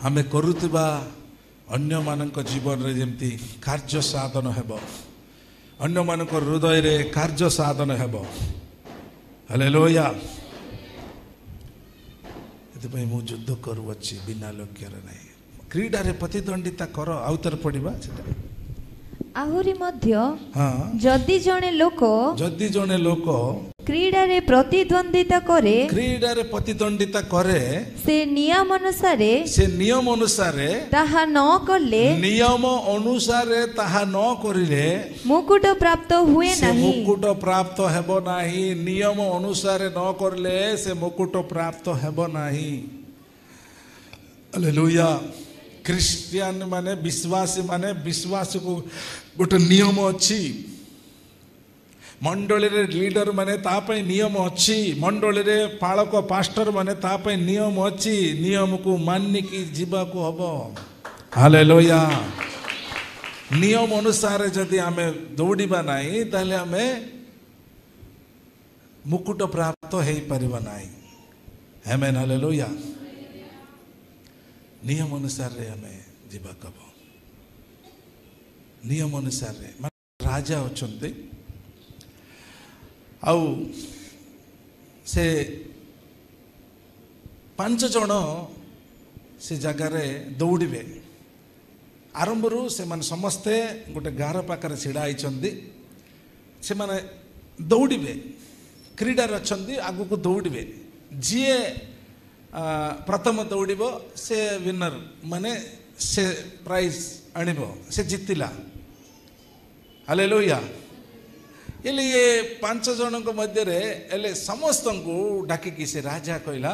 ଆମେ କରୁଥିବା ଅନ୍ୟମାନଙ୍କ ଜୀବନରେ ଯେମିତି କାର୍ଯ୍ୟ ସାଧନ ହେବ, ଅନ୍ୟମାନଙ୍କ ହୃଦୟରେ କାର୍ଯ୍ୟ ସାଧନ ହେବ। ହାଲେଲୁୟା। ଏଥିପାଇଁ ମୁଁ ଯୁଦ୍ଧ କରୁଅଛି ବିନା ଲକ୍ଷ୍ୟରେ ନାହିଁ। କ୍ରୀଡ଼ାରେ ପ୍ରତିଦ୍ୱନ୍ଦିତା କର। ଆଉ ଥରେ ପଢିବା ସେଟା। ଆହୁରି ମଧ୍ୟ ଯଦି ଜଣେ ଲୋକ, ଯଦି ଜଣେ ଲୋକ କ୍ରୀଡ଼ାରେ ପ୍ରତିଦ୍ୱନ୍ଦିତା କରେ, କ୍ରୀଡ଼ାରେ ପ୍ରତିଦ୍ୱନ୍ଦିତା କରେ, ସେ ନିୟମ ଅନୁସାରେ, ସେ ନିୟମ ଅନୁସାରେ ତାହା ନ କଲେ, ନିୟମ ଅନୁସାରେ ତାହା ନ କରିଲେ ମୁକୁଟ ପ୍ରାପ୍ତ ହୁଏ ସେ ନାହିଁ। ମୁକୁଟ ପ୍ରାପ୍ତ ହେବ ନାହିଁ। ନିୟମ ଅନୁସାରେ ନ କରିଲେ ସେ ମୁକୁଟ ପ୍ରାପ୍ତ ହେବ ନାହିଁ। ହାଲେଲୁୟା। ଖ୍ରୀଷ୍ଟିଆନ ମାନେ, ବିଶ୍ୱାସୀ ମାନେ, ବିଶ୍ୱାସକୁ ଗୋଟେ ନିୟମ ଅଛି। ମଣ୍ଡଳୀରେ ଲିଡର ମାନେ ତା ପାଇଁ ନିୟମ ଅଛି। ମଣ୍ଡଳୀରେ ପାଳକ ପାଷ୍ଟର ମାନେ ତା ପାଇଁ ନିୟମ ଅଛି। ନିୟମକୁ ମାନିକି ଯିବାକୁ ହବ। ହାଲେଲୁୟା। ନିୟମ ଅନୁସାରେ ଯଦି ଆମେ ଦୌଡ଼ିବା ନାହିଁ, ତାହେଲେ ଆମେ ମୁକୁଟ ପ୍ରାପ୍ତ ହେଇପାରିବା ନାହିଁ। ଆମେନ୍, ହାଲେଲୁୟା। ନିୟମ ଅନୁସାରେ ଆମେ ଯିବାକୁ ହବ। ନିୟମ ଅନୁସାରେ ମାନେ ରାଜା ଅଛନ୍ତି, ଆଉ ସେ 5 ଜଣ ସେ ଜାଗାରେ ଦୌଡ଼ିବେ। ଆରମ୍ଭରୁ ସେମାନେ ସମସ୍ତେ ଗୋଟେ ଗାର ପାଖରେ ଛିଡ଼ା ହେଇଛନ୍ତି। ସେମାନେ ଦୌଡ଼ିବେ, କ୍ରୀଡ଼ାରେ ଅଛନ୍ତି, ଆଗକୁ ଦୌଡ଼ିବେ। ଯିଏ ପ୍ରଥମ ଦୌଡ଼ିବ ସେ ୱିନର, ମାନେ ସେ ପ୍ରାଇଜ୍ ଆଣିବ, ସେ ଜିତିଲା। ହାଲେଲୁୟା। ହେଲେ ଇଏ 5 ଜଣଙ୍କ ମଧ୍ୟରେ ହେଲେ ସମସ୍ତଙ୍କୁ ଡାକିକି ସେ ରାଜା କହିଲା,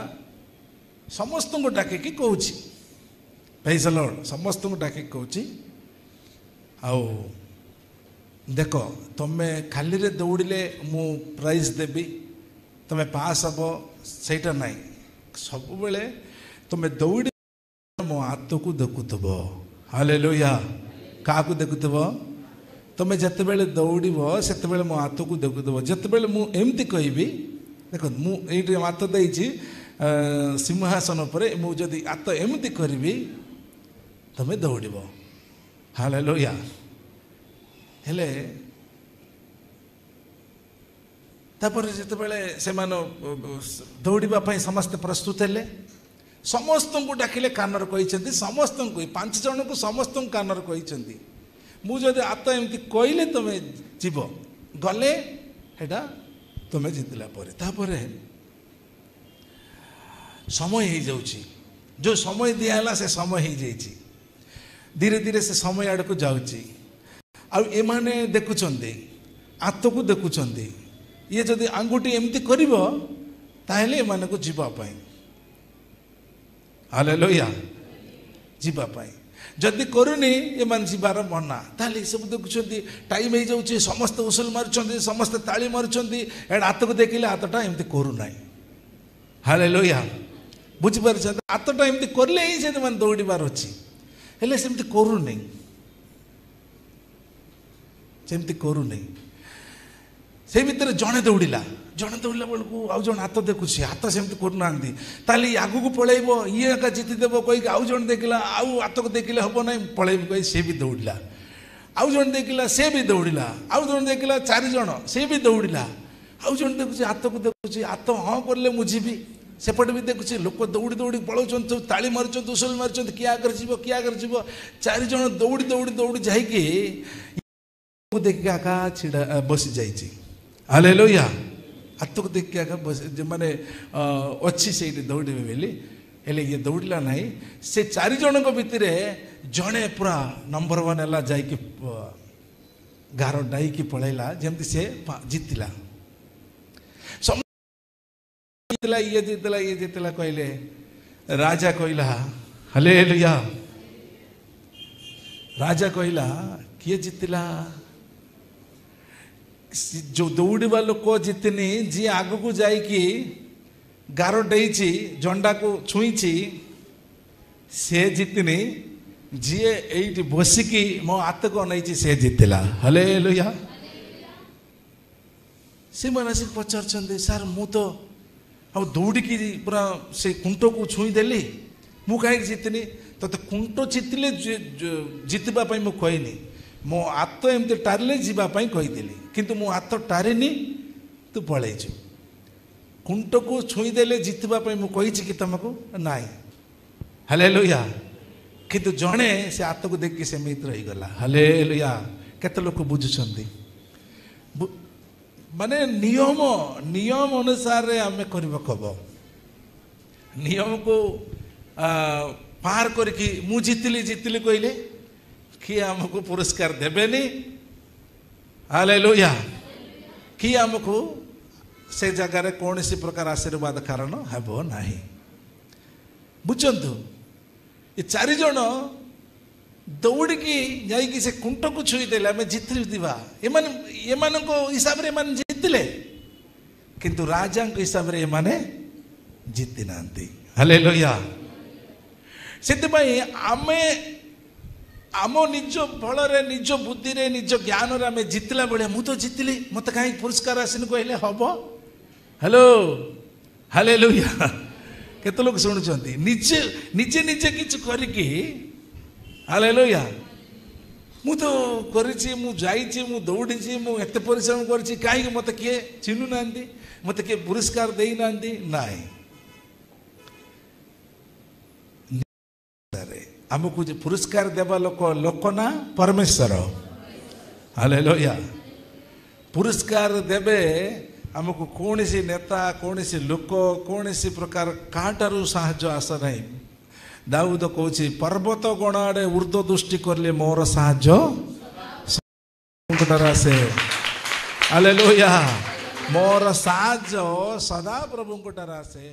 ସମସ୍ତଙ୍କୁ ଡାକିକି କହୁଛି, ପ୍ରେଜ୍ ଦ ଲର୍ଡ, ସମସ୍ତଙ୍କୁ ଡାକିକି କହୁଛି, ଆଉ ଦେଖ ତମେ ଖାଲିରେ ଦୌଡ଼ିଲେ ମୁଁ ପ୍ରାଇଜ୍ ଦେବି, ତମେ ପାସ୍ ହବ, ସେଇଟା ନାହିଁ। ସବୁବେଳେ ତମେ ଦୌଡ଼ି ମୋ ହାତକୁ ଦେଖୁଥିବ। ହାଲେଲୁୟା। କାହାକୁ ଦେଖୁଥିବ? ତମେ ଯେତେବେଳେ ଦୌଡ଼ିବ ସେତେବେଳେ ମୋ ହାତକୁ ଦେଖୁଥିବ। ଯେତେବେଳେ ମୁଁ ଏମିତି କହିବି, ଦେଖନ୍ତୁ ମୁଁ ଏଇଠି ହାତ ଦେଇଛି ସିଂହାସନ ଉପରେ, ମୁଁ ଯଦି ହାତ ଏମିତି କରିବି ତମେ ଦୌଡ଼ିବ। ହାଲେଲୁୟା। ହେଲେ ତାପରେ ଯେତେବେଳେ ସେମାନେ ଦୌଡ଼ିବା ପାଇଁ ସମସ୍ତେ ପ୍ରସ୍ତୁତ ହେଲେ, ସମସ୍ତଙ୍କୁ ଡାକିଲେ, କାନରେ କହିଛନ୍ତି, ସମସ୍ତଙ୍କୁ, 5 ଜଣଙ୍କୁ ସମସ୍ତଙ୍କୁ କାନରେ କହିଛନ୍ତି, ମୁଁ ଯଦି ହାତ ଏମିତି କହିଲେ ତମେ ଯିବ, ଗଲେ ସେଇଟା ତମେ ଜିତିଲା ପରେ। ତାପରେ ସମୟ ହେଇଯାଉଛି, ଯେଉଁ ସମୟ ଦିଆହେଲା ସେ ସମୟ ହେଇଯାଇଛି, ଧୀରେ ଧୀରେ ସେ ସମୟ ଆଡ଼କୁ ଯାଉଛି। ଆଉ ଏମାନେ ଦେଖୁଛନ୍ତି, ହାତକୁ ଦେଖୁଛନ୍ତି, ଇଏ ଯଦି ଆଙ୍ଗୁଠି ଏମିତି କରିବ ତାହେଲେ ଏମାନଙ୍କୁ ଯିବା ପାଇଁ। ହାଲେଲୁୟା। ଯିବା ପାଇଁ ଯଦି କରୁନି ଏମାନେ ଯିବାର ମନା। ତାହେଲେ ଏସବୁ ଦେଖୁଛନ୍ତି, ଟାଇମ୍ ହେଇଯାଉଛି, ସମସ୍ତେ ଉସୁଲ ମାରୁଛନ୍ତି, ସମସ୍ତେ ତାଳି ମାରୁଛନ୍ତି, ଏଇଟା ହାତକୁ ଦେଖିଲେ ହାତଟା ଏମିତି କରୁନାହିଁ। ହାଲେଲୁୟା। ବୁଝିପାରୁଛନ୍ତି? ହାତଟା ଏମିତି କଲେ ହିଁ ସେମାନେ ଦୌଡ଼ିବାର ଅଛି, ହେଲେ ସେମିତି କରୁନି, ସେମିତି କରୁନି। ସେଇ ଭିତରେ ଜଣେ ଦୌଡ଼ିଲା, ଜଣେ ଦୌଡ଼ିଲା ବେଳକୁ ଆଉ ଜଣେ ହାତ ଦେଖୁଛି, ହାତ ସେମିତି କରୁନାହାନ୍ତି, ତାହେଲେ ଇଏ ଆଗକୁ ପଳେଇବ, ଇଏ ଏକା ଜିତିଦେବ କହିକି ଆଉ ଜଣେ ଦେଖିଲା, ଆଉ ହାତକୁ ଦେଖିଲେ ହେବ ନାହିଁ, ପଳେଇବ କହି ସେ ବି ଦୌଡ଼ିଲା। ଆଉ ଜଣେ ଦେଖିଲା, ସେ ବି ଦୌଡ଼ିଲା। ଆଉ ଜଣେ ଦେଖିଲା, 4 ଜଣ, ସେ ବି ଦୌଡ଼ିଲା। ଆଉ ଜଣେ ଦେଖୁଛି, ହାତକୁ ଦେଖୁଛି, ହାତ ହଁ କରିଲେ ମୁଁ ଯିବି। ସେପଟେ ବି ଦେଖୁଛି ଲୋକ ଦୌଡ଼ି ଦୌଡ଼ି ପଳାଉଛନ୍ତି, ସବୁ ତାଳି ମାରୁଛନ୍ତି, ଉସୁଲ ମାରୁଛନ୍ତି, କିଏ ଆଗରେ ଯିବ, କିଏ ଆଗରେ ଯିବ। 4 ଜଣ ଦୌଡ଼ି ଦୌଡ଼ି ଦୌଡ଼ି ଯାଇକି ଦେଖିକି ଆକା ଛିଡ଼ା ବସି ଯାଇଛି। ହାଲେଲୁୟା। ହାତକୁ ଦେଖିକି ଆକା ବସି, ମାନେ ଅଛି ସେଇଠି ଦୌଡ଼ିବେ ବୋଲି, ହେଲେ ଇଏ ଦୌଡ଼ିଲା ନାହିଁ। ସେ 4 ଜଣଙ୍କ ଭିତରେ ଜଣେ ପୁରା ନମ୍ବର 1 ହେଲା, ଯାଇକି ଗାର ଡାଇକି ପଳେଇଲା, ଯେମିତି ସେ ଜିତିଲା। ଜିତିଲା, ଇଏ ଜିତିଲା, ଇଏ ଜିତିଲା କହିଲେ। ରାଜା କହିଲା, ହାଲେଲୁୟା। ରାଜା କହିଲା, କିଏ ଜିତିଲା? ଯୋଉ ଦୌଡ଼ିବା ଲୋକ ଜିତିନି, ଯିଏ ଆଗକୁ ଯାଇକି ଗାର ଡେଇଛି, ଜଣ୍ଡାକୁ ଛୁଇଁଛି, ସେ ଜିତିନି, ଯିଏ ଏଇଠି ବସିକି ମୋ ହାତକୁ ଅନେଇଛି ସେ ଜିତିଲା। ହାଲେଲୁୟା। ସେମାନେ ଆସିକି ପଚାରୁଛନ୍ତି, ସାର୍ ମୁଁ ତ ଆଉ ଦୌଡ଼ିକି ପୁରା ସେ କୁଣ୍ଟକୁ ଛୁଇଁଦେଲି, ମୁଁ କାହିଁକି ଜିତିନି? ତୋତେ କୁଣ୍ଟ ଜିତିଲେ ଜିତିବା ପାଇଁ ମୁଁ କହିନି, ମୋ ହାତ ଏମିତି ଟାରିଲେ ଯିବା ପାଇଁ କହିଥିଲି, କିନ୍ତୁ ମୁଁ ହାତ ଟାରିନି, ତୁ ପଳେଇଛୁ। କୁଣ୍ଟକୁ ଛୁଇଁଦେଲେ ଜିତିବା ପାଇଁ ମୁଁ କହିଛି କି ତମକୁ? ନାହିଁ। ହାଲେଲୁୟା। କିନ୍ତୁ ଜଣେ ସେ ହାତକୁ ଦେଖିକି ସେମିତି ରହିଗଲା। ହାଲେଲୁୟା। କେତେ ଲୋକ ବୁଝୁଛନ୍ତି? ମାନେ ନିୟମ ନିୟମ ଅନୁସାରେ ଆମେ କରିବାକୁ ହବ। ନିୟମକୁ ପାର କରିକି ମୁଁ ଜିତିଲି ଜିତିଲି କହିଲେ କିଏ ଆମକୁ ପୁରସ୍କାର ଦେବେନି। ହାଲେଲୁୟା। କିଏ ଆମକୁ ସେ ଜାଗାରେ କୌଣସି ପ୍ରକାର ଆଶୀର୍ବାଦ କାରଣ ହେବ ନାହିଁ। ବୁଝନ୍ତୁ, ଏ ଚାରିଜଣ ଦୌଡ଼ିକି ଯାଇକି ସେ କୁଣ୍ଟକୁ ଛୁଇଁଦେଲେ, ଆମେ ଜିତିଥିବା। ଏମାନେ ଏମାନଙ୍କ ହିସାବରେ ଏମାନେ ଜିତିଲେ, କିନ୍ତୁ ରାଜାଙ୍କ ହିସାବରେ ଏମାନେ ଜିତି ନାହାନ୍ତି। ହାଲେଲୁୟା। ସେଥିପାଇଁ ଆମେ ଆମ ନିଜ ବଳରେ, ନିଜ ବୁଦ୍ଧିରେ, ନିଜ ଜ୍ଞାନରେ ଆମେ ଜିତିଲା ଭଳିଆ, ମୁଁ ତ ଜିତିଲି, ମୋତେ କାହିଁକି ପୁରସ୍କାର ଆସିନି କହିଲେ ହବ? Hello, hallelujah. କେତେ ଲୋକ ଶୁଣୁଛନ୍ତି? ନିଜେ ନିଜେ ନିଜେ କିଛି କରିକି, ହାଲେଲୁୟା, ମୁଁ ତ କରିଛି, ମୁଁ ଯାଇଛି, ମୁଁ ଦୌଡ଼ିଛି, ମୁଁ ଏତେ ପରିଶ୍ରମ କରିଛି, କାହିଁକି ମୋତେ କିଏ ଚିହ୍ନୁନାହାନ୍ତି, ମୋତେ କିଏ ପୁରସ୍କାର ଦେଇନାହାନ୍ତି? ନାଇଁ, ଆମକୁ ଯେ ପୁରସ୍କାର ଦେବା ଲୋକ ଲୋକ ନା ପରମେଶ୍ୱର। ହାଲେଲୁୟା। ପୁରସ୍କାର ଦେବେ ଆମକୁ କୌଣସି ନେତା, କୌଣସି ଲୋକ, କୌଣସି ପ୍ରକାର କାହାଠାରୁ ସାହାଯ୍ୟ ଆଶା ନାହିଁ। ଦାଉଦ କହୁଛି, ପର୍ବତ ଗଣ ଆଡ଼େ ଉର୍ଦ୍ଧ୍ୱ ଦୃଷ୍ଟି କଲେ ମୋର ସାହାଯ୍ୟ ଆସେ। ହାଲେଲୁୟା। ମୋର ସାହାଯ୍ୟ ସଦାପ୍ରଭୁଙ୍କ ଠାରୁ ଆସେ।